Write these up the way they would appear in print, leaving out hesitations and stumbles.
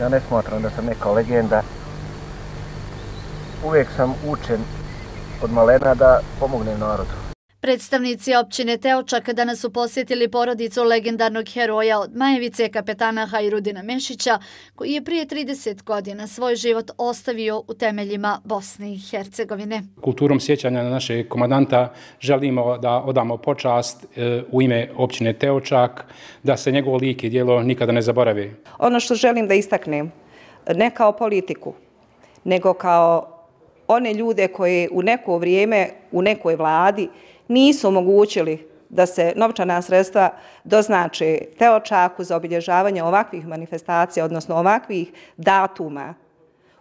Ja ne smatram da sam neka legenda. Uvijek sam učen od malena da pomognem narodu. Predstavnici općine Teočak danas su posjetili porodicu legendarnog heroja od Majevice, kapetana Hajrudina Mešića, koji je prije 30 godina svoj život ostavio u temeljima Bosne i Hercegovine. Kulturom sjećanja na našeg komandanta želimo da odamo počast u ime općine Teočak, da se njegov lik i djelo nikada ne zaboravi. Ono što želim da istaknem, ne kao politiku, nego kao one ljude koji u neko vrijeme u nekoj vladi nisu omogućili da se novčana sredstva doznače Teočaku za obilježavanje ovakvih manifestacija, odnosno ovakvih datuma.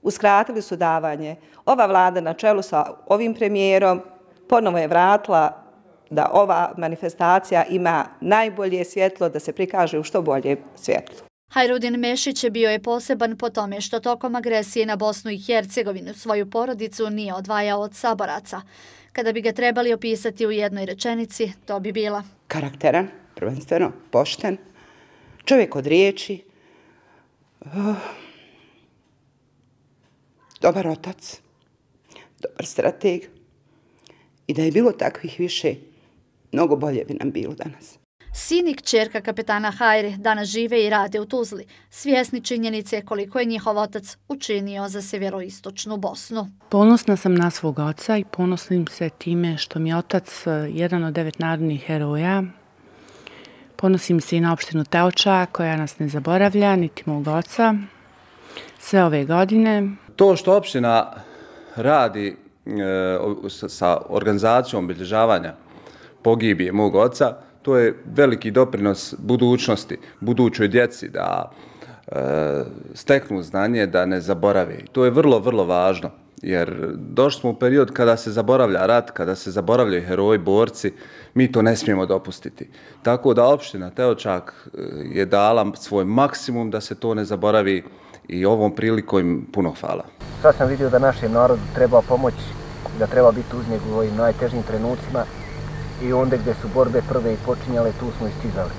Uskratili su davanje. Ova vlada na čelu sa ovim premijerom ponovo je vratila da ova manifestacija ima najbolje svjetlo, da se prikaže u što bolje svjetlo. Hajrudin Mešić bio je poseban po tome što tokom agresije na Bosnu i Hercegovinu svoju porodicu nije odvajao od saboraca. Kada bi ga trebali opisati u jednoj rečenici, to bi bila: karakteran, prvenstveno, pošten, čovjek od riječi, dobar otac, dobar strateg. I da je bilo takvih više, mnogo bolje bi nam bilo danas. Sin i kćerka kapetana Hajre danas žive i rade u Tuzli, svjesni činjenice koliko je njihov otac učinio za sjeveroistočnu Bosnu. Ponosna sam na svog oca i ponosim se time što mi je otac jedan od 9 narodnih heroja. Ponosim se i na opštinu Teočak koja nas ne zaboravlja, niti mog oca, sve ove godine. To što opština radi sa organizacijom obilježavanja pogibije mog oca, to je veliki doprinos budućnosti, budućoj djeci da steknu znanje, da ne zaborave. To je vrlo, vrlo važno, jer došli smo u period kada se zaboravlja rat, kada se zaboravljaju heroji, borci, mi to ne smijemo dopustiti. Tako da opština Teočak je dala svoj maksimum da se to ne zaboravi i ovom prilikom im puno hvala. Sad sam vidio da našem narodu treba pomoć, da treba biti uz njega u ovim najtežim trenucima. I onda gdje su borbe prve i počinjale, tu smo istizali.